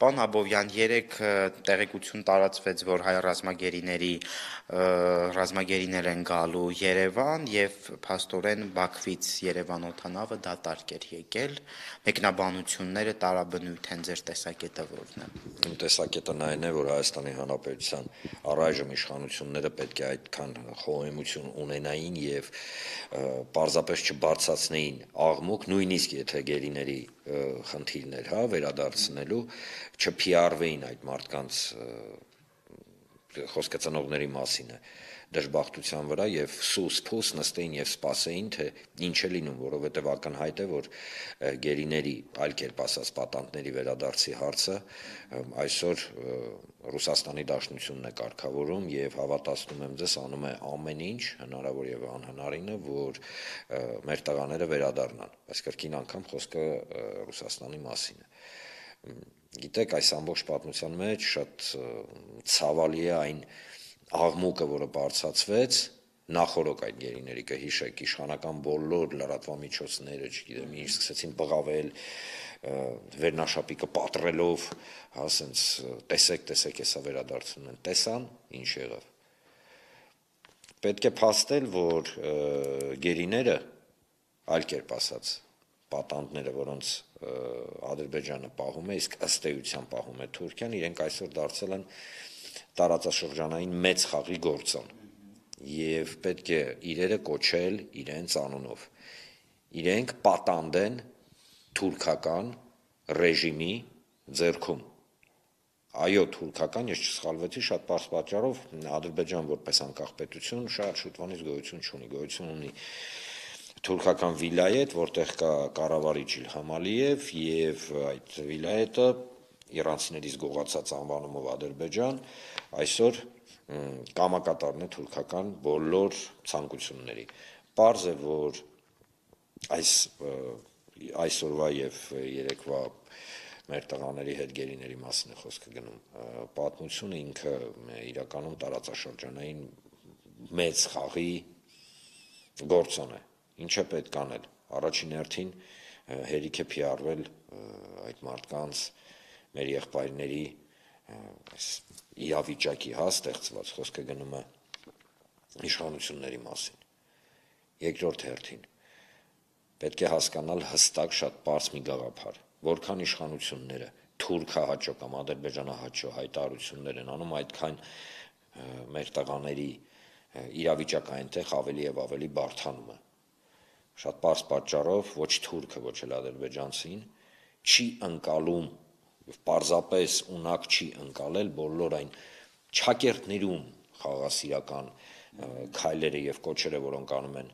Պարոն Աբովյան, երեք տեղեկություն տարածվեց, որ հայ ռազմագերիներ են գալու Երևան եւ փաստորեն Բաքվից Երևան օդանավը դատարկ էր եկել, մեկնաբանությունները տարաբնույթ են, ձեր տեսակետը որն է։ Իմ տեսակետը այն է, որ Հայաստանի Հանրապետության առայժմ իշխանությունները պետք է այդքան խոհեմություն ունենային եւ պարզապես չբարձրացնեին աղմուկ, նույնիսկ եթե գերիների խնդիրներ, վերադարձնելու, չփիարվեին այդ մարդկանց խոսքը ծնողների մասին է դժբախտության վրա եւ սուս-փուս նստեին եւ սպասեին, թե ինչ է լինում, որովհետեւ ակնհայտ է, որ գերիների, այլ կերպ ասած, պատանդների վերադարձի հարցը այսօր Ռուսաստանի Դաշնությունն է կարգավորում եւ հավատացնում եմ ձեզ, անում է ամեն ինչ հնարավոր եւ անհնարինը, որ մեր տղաները վերադառնան, բայց կրկին անգամ խոսքը Ռուսաստանի մասին է։ Գիտեք, այս ամբողջ պատմության մեջ շատ ցավալի է այն աղմուկը, որը բարձրացվեց նախորոք այդ գերիների, կհիշեք, իշխանական բոլոր լրատվամիջոցները, չգիտեմ, ինչ սկսեցին բղավել, վերնաշապիկը պատռելով, ասենց տեսեք, հեսա վերադարձնում են, տեսան, ինչ եղավ։ Պետք է փաստել, որ գերիները, այլ կերպ ասած, պատանդները, որոնց Ադրբեջանը պահում է, իսկ ըստ էության պահում է Թուրքիան, իրենք այսօր դարձել են տարածաշրջանային մեծ խաղի գործոն եւ պետք է իրերը կոչել իրենց անունով։ Իրենք պատանդ են թուրքական ռեժիմի ձեռքում։ Այո, թուրքական, ես չսխալվեցի, շատ պարզ պատճառով Ադրբեջան որպես անկախ պետություն շատ շուտվանից գոյություն չունի, գոյություն ունի թուրքական վիլայետ, որտեղ կա կառավարիչ Իլհամ Ալիև եւ այդ վիլայետը իրանցիներից գողացած անվանումով Ադրբեջան այսօր կամակատարն է թուրքական բոլոր ցանկությունների։ Պարզ է, որ այսօրվա եւ երեկվա մեր տղաների հետ գերիների մասին է խոսքը գնում։ Պատմությունը ինքը իրականում տարածաշրջանային մեծ խաղի գործոն է։ Ինչ է պետք անել։ Առաջին հերթին հերիք է փիարվել այդ մարդկանց, մեր եղբայրների իրավիճակի ստեղծված, խոսքը գնում է իշխանությունների մասին։ Երկրորդ հերթին պետք է հասկանալ հստակ շատ պարզ մի գաղափար, որքան իշխանությունները թուրքահաճո կամ ադրբեջանահաճո հայտարարություններ են անում, այդքան մեր տղաների իրավիճակը այնտեղ ավելի եւ ավելի բարդանում է։ Շատ պարզ պատճառով ոչ թուրքը, ոչ էլ ադրբեջանցին չի ընկալում, պարզապես ունակ չի ընկալել բոլոր այն չակերտներում խաղաղասիրական քայլերը եւ կոչերը, որոնք անում են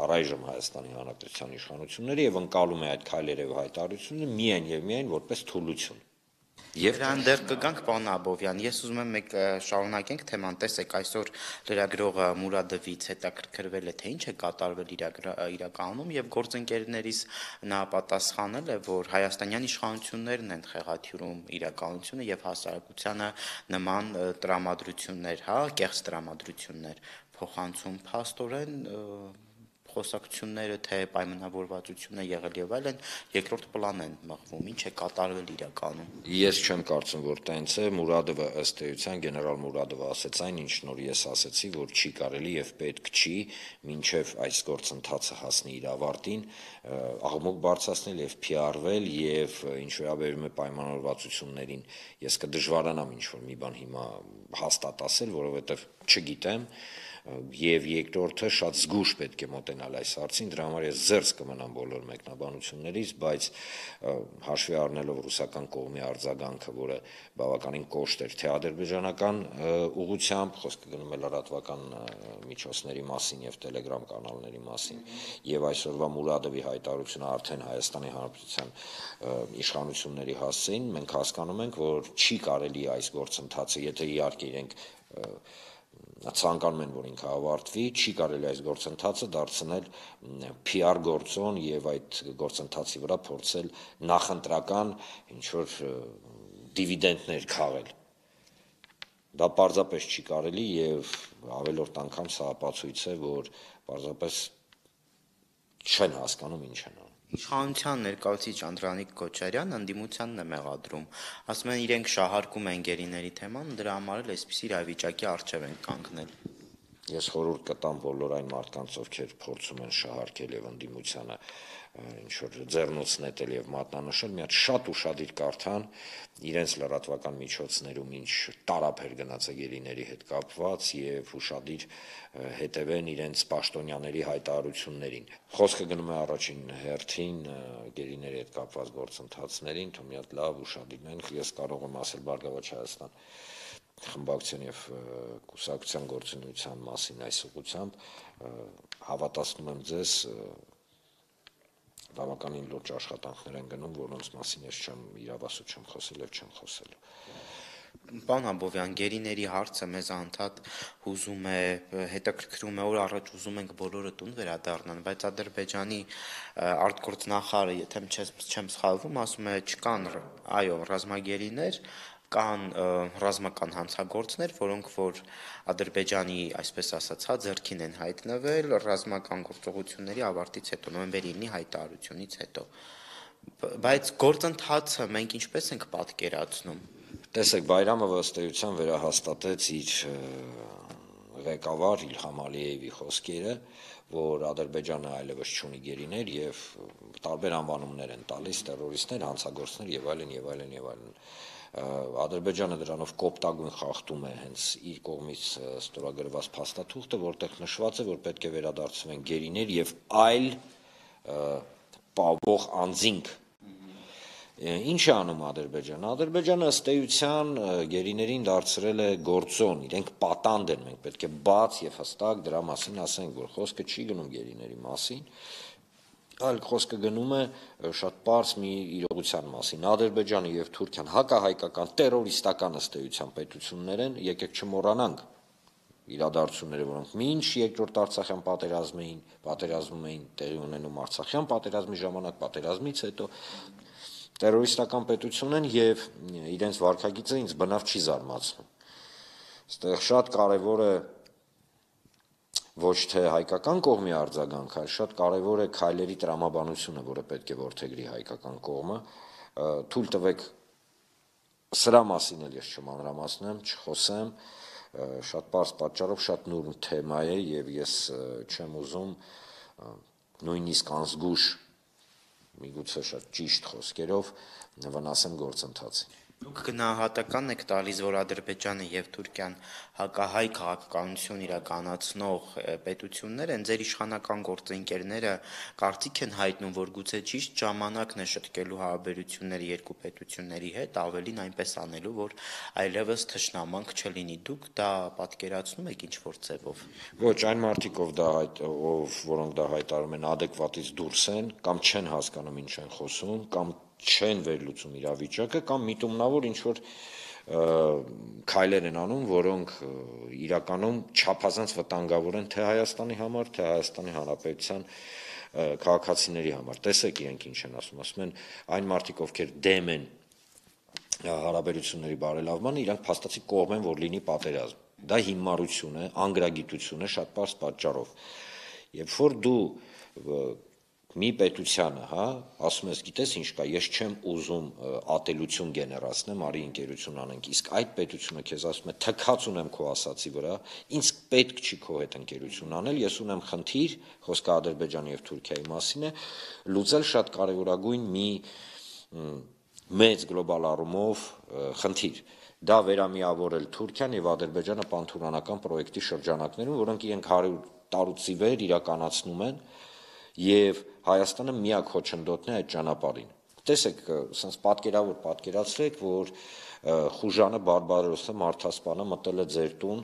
առայժմ Հայաստանի Հանրապետության իշխանությունները եւ ընկալում է այդ քայլերը եւ հայտարարությունները միայն եւ միայն որպես թուլություն։ Եվ դրան դեռ կգանք, պարոն Աբովյան, ես ուզում եմ մեկ շարունակենք թեման, տեսեք, այսօր լրագրողը Մուրադովից հետաքրքրվել է, թե ինչ է կատարվել իրականում եւ գործընկերներից նա պատասխանել է, որ հայաստանյան իշխանություններն են խեղաթյուրում իրականությունը եւ հասարակությանը նման տրամադրություններ, կեղծ տրամադրություններ փոխանցում փաստորեն խոսակցությունները, թե պայմանավորվածությունը եղել եւ այլն երկրորդ պլան են մղվում, ինչ է կատարվել իրականում։ Ես չեմ կարծում, որ տենց է, Մուրադովը ըստ էության գեներալ Մուրադովը ասեց այն, ինչ նոր ես ասեցի, որ չի կարելի եւ պետք չի մինչեւ այս գործընթացը հասնի իր ավարտին, աղմուկ բարձրացնել եւ փիարվել եւ ինչ վերաբերում է պայմանավորվածություններին, ես կդժվարանամ ինչ որ մի բան հիմա հաստատ ասել, որովհետեւ չգիտեմ եւ երկրորդը շատ զգուշ պետք է մոտենալ այս հարցին, դրա համար ես զերծ կմնամ բոլոր մեկնաբանություններից, բայց հաշվի առնելով ռուսական կողմի արձագանքը, որը բավականին կոշտ էր, թե ադրբեջանական ուղղությամբ, խոսքը գնում է լրատվական միջոցների մասին եւ Telegram կանալների մասին, եւ այսօրվա Մուրադովի հայտարարությունը արդեն Հայաստանի Հանրապետության իշխանությունների հասցեին, մենք հասկանում ենք, որ չի կարելի այս գործընթացը, եթե իհարկե իրենք ցանկանում են, որ ինքը ավարտվի, չի կարելի այս գործընթացը դարձնել PR գործոն եւ այդ գործընթացի վրա փորձել նախընտրական ինչ որ դիվիդենդներ քաղել։ Դա պարզապես չի կարելի եւ ավելորդ անգամ սա ապացույց է, որ պարզապես չեն հասկանում ինչ են անում։ Իշխանության ներկայացուցիչ Անդրանիկ Քոչարյանը ընդդիմությանն է մեղադրում, ասում են իրենք շահարկում են գերիների թեման, դրա համար էլ այսպիսի իրավիճակի առջև են կանգնել։ Ես խորհուրդ կտամ բոլոր այն մարդկանց, ովքեր փորձում են շահարկել եւ ընդդիմությանը ինչ որ ձեռնոց նետել եւ մատնանշել, մի հատ շատ ուշադիր կարդան իրենց լրատվական միջոցներում ինչ տարափ էր գնացել գերիների հետ կապված եւ ուշադիր հետևեն իրենց պաշտոնյաների հայտարարություններին։ Խոսքը գնում է առաջին հերթին գերիների հետ կապված գործընթացներին, թող մի հատ լավ ուշադիրն ես կարող եմ ասել Բարգավաճ Հայաստան խմբակցության եւ կուսակցության գործունեության մասին այս ուղղությամբ հավատացնում եմ ձեզ բավականին լուրջ աշխատանքներ են գնում, որոնց մասին ես չեմ իրավասու չեմ խոսել եւ չեմ խոսելու։ Պարոն Աբովյան, գերիների հարցը մեզ անդադ հուզում է, հետաքրքրում է, օր առաջ ուզում ենք բոլորը տուն վերադառնան, բայց Ադրբեջանի արտգործնախարարը, եթե չեմ սխալվում, ասում է չկան, այո, ռազմագերիներ, կան ռազմական հանցագործներ, որոնք որ Ադրբեջանի, այսպես ասած, ձեռքին են հայտնվել ռազմական գործողությունների ավարտից հետո, նոյեմբերի 9-ի հայտարարությունից հետո։ Բայց գործընթացը մենք ինչպես ենք պատկերացնում։ Տեսեք, Բայրամը ըստ էության վերահաստատեց իր ղեկավար Իլհամ Ալիևի խոսքերը, որ Ադրբեջանը այլևս չունի գերիներ եւ տարբեր անվանումներ են տալիս տերորիստներ, հանցագործներ եւ այլն եւ այլն եւ այլն։ Ադրբեջանը դրանով կոպտագույն խախտում է հենց իր կողմից ստորագրված փաստաթուղթը, որտեղ նշված է, որ պետք է վերադարձվեն գերիներ եւ այլ պահող անձինք։ Ինչ է անում Ադրբեջանը։ Ադրբեջանը ըստ էության գերիներին դարձրել է գործոն, իրենք պատանդ են, մենք պետք է բաց եւ հստակ դրա մասին ասենք, որ խոսքը չի գնում գերիների մասին, այլ խոսքը գնում է շատ պարզ մի իրողության մասին։ Ադրբեջանը եւ Թուրքիան հակահայկական տերորիստական ըստ էության պետություններ են, եկեք չմոռանանք իրադարձությունները, որոնք մինչ երկրորդ Արցախյան պատերազմում էին տեղի ունենում Արցախյան պատերազմի ժամանակ, պատերազմից հետո տերորիստական պետություն են եւ իրենց վարքագիծը ինձ բնավ չի զարմացնում։ Այստեղ շատ կարեւոր է ոչ թե հայկական կողմի արձագանքը, այլ շատ կարեւոր է քայլերի տրամաբանությունը, որը պետք է որդեգրի հայկական կողմը։ Թույլ տվեք սրա մասին էլ ես չմանրամասնեմ, չխոսեմ, շատ պարզ պատճառով շատ նուրբ թեմա է եւ ես չեմ ուզում նույնիսկ անզգուշ միգուցե շատ ճիշտ խոսքերով վնասեմ գործընթացին։ Դուք գնահատական եք տալիս, որ Ադրբեջանը եւ Թուրքիան հակահայ քաղաքականություն իրականացնող պետություններ են, ձեր իշխանական գործընկերները կարծիք են հայտնում, որ գուցե ճիշտ ժամանակն է շտկելու հարաբերությունները երկու պետությունների հետ, ավելին այնպես անելու, որ այլևս թշնամանք չլինի։ Դուք դա պատկերացնում եք ինչ-որ ձևով։ Ոչ, այն մարդիկ, որոնք դա հայտարարում են, adekvatից դուրս են, կամ չեն հասկանում ինչ են խոսում, կամ չեն վերլուծում իրավիճակը, կամ միտումնավոր ինչ-որ քայլեր են անում, որոնք իրականում չափազանց վտանգավոր են թե Հայաստանի համար, թե Հայաստանի Հանրապետության քաղաքացիների համար։ Տեսեք իրենք ինչ են ասում են այն մարդիկ, ովքեր դեմ են հարաբերությունների բարելավմանը, իրանք փաստացի կողմ են, որ լինի պատերազմ։ Դա հիմարություն է, անգրագիտություն է շատ պարզ պատճառով։ Երբ որ դու մի պետությանը, ասում ես, գիտես ինչ կա, ես չեմ ուզում ատելություն գեներացնեմ, արի ընկերություն անենք, իսկ այդ պետությունը քեզ ասում է, թքած ունեմ քո ասացի վրա, ինձ պետք չի քո հետ ընկերություն անել, ես ունեմ խնդիր, խոսքը Ադրբեջանի եւ Թուրքիայի մասին է, լուծել շատ կարևորագույն մի մեծ գլոբալ առումով խնդիր։ Դա վերամիավորել Թուրքիան եւ Ադրբեջանը պանթուրքանական պրոյեկտի շրջանակներում, որոնք իրենք 100 տարուց ի վեր իրականացնում են եւ Հայաստանը միակ խոչընդոտն է այդ ճանապարհին։ Տեսեք, ասես պատկերացրեք, որ Խուժանը Բարբարոսը մարդասպանը մտել է ձեր տուն,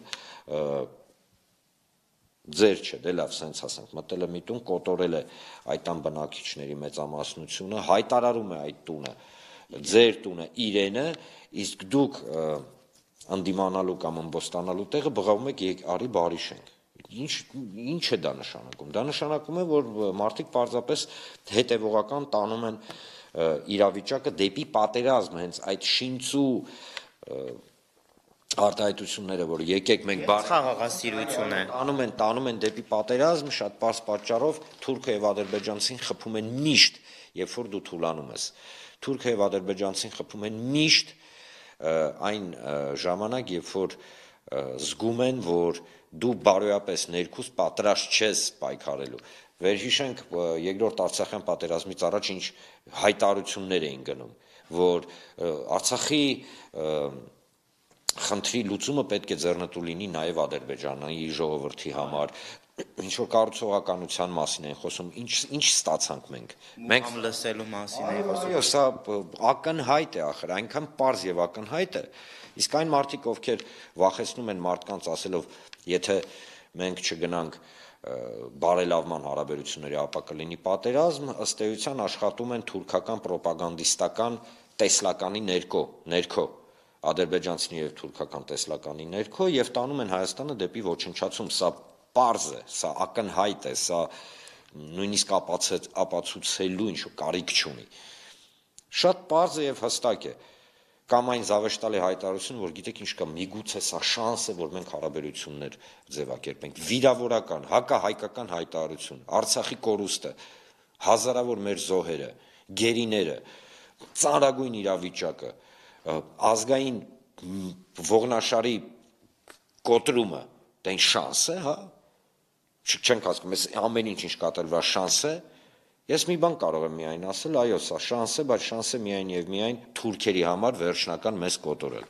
ձեր չէ, դե լավ, սենց ասենք, մտել է մի տուն, կոտորել է այդ տան բնակիչների մեծամասնությունը, հայտարարում է այդ տունը, ձեր տունը իրենը, իսկ դուք ընդդիմանալու կամ ըմբոստանալու տեղը բղավում եք արի բարի շենք։ Ինչ է դա նշանակում։ Դա նշանակում է, որ մարդիկ պարզապես հետևողական տանում են իրավիճակը դեպի պատերազմ, հենց այդ շինծու արտահայտությունները, որ եկեք մենք Խաղաղասիրություն է։ տանում են դեպի պատերազմ, շատ պարզ պատճառով Թուրքիա եւ Ադրբեջանցին խփում են միշտ, երբ որ դու թուլանում ես։ Թուրքիա եւ Ադրբեջանցին խփում են միշտ այն ժամանակ, երբ որ զգում են, որ դու բարոյապես ներքուստ պատրաստ չես պայքարելու։ Վերհիշենք երկրորդ Արցախյան պատերազմից առաջ ինչ հայտարարություններ էին գնում, որ Արցախի խնդրի լուծումը պետք է ձեռնտու լինի նաև Ադրբեջանի ժողովրդի համար, ինչ որ կառուցողականության մասին են խոսում, ինչ ստացանք մենք լսելու մասին է խոսում։ Այո, սա ակնհայտ է ախր, այնքան պարզ եւ ակնհայտ է, իսկ այն մարդիկ, ովքեր վախեցնում են մարդկանց ասելով, եթե մենք չգնանք բարելավման հարաբերությունների, ապա կլինի պատերազմ, ըստ էության աշխատում են թուրքական ռոպագանդիստական տեսլականի ներքո ադրբեջանցի եւ թուրքական տեսլականի ներքո եւ տանում են Հայաստանը դեպի ոչնչացում, սա պարզ է, սա ակնհայտ է, սա նույնիսկ ապացուցելու ինչ-որ կարիք չունի։ Շատ պարզ է եւ հստակ է, կամ այն զավեշտալի հայտարարություն, որ գիտեք ինչ կա, միգուցե սա շանս է, որ մենք հարաբերություններ ձևակերպենք, վիրավորական, հակահայկական հայտարարություն, Արցախի կորուստը, հազարավոր մեր զոհերը, գերիները, ծանրագույն իրավիճակը, ազգային ողնաշարի կոտրումը, դա ինչ շանս է, հա, չենք հասկանում, այս ամեն ինչ կատարվա շանս է, ես մի բան կարող եմ միայն ասել, այո, սա շանս է, բայց շանս է միայն եւ միայն թուրքերի համար վերջնական մեզ կոտորել։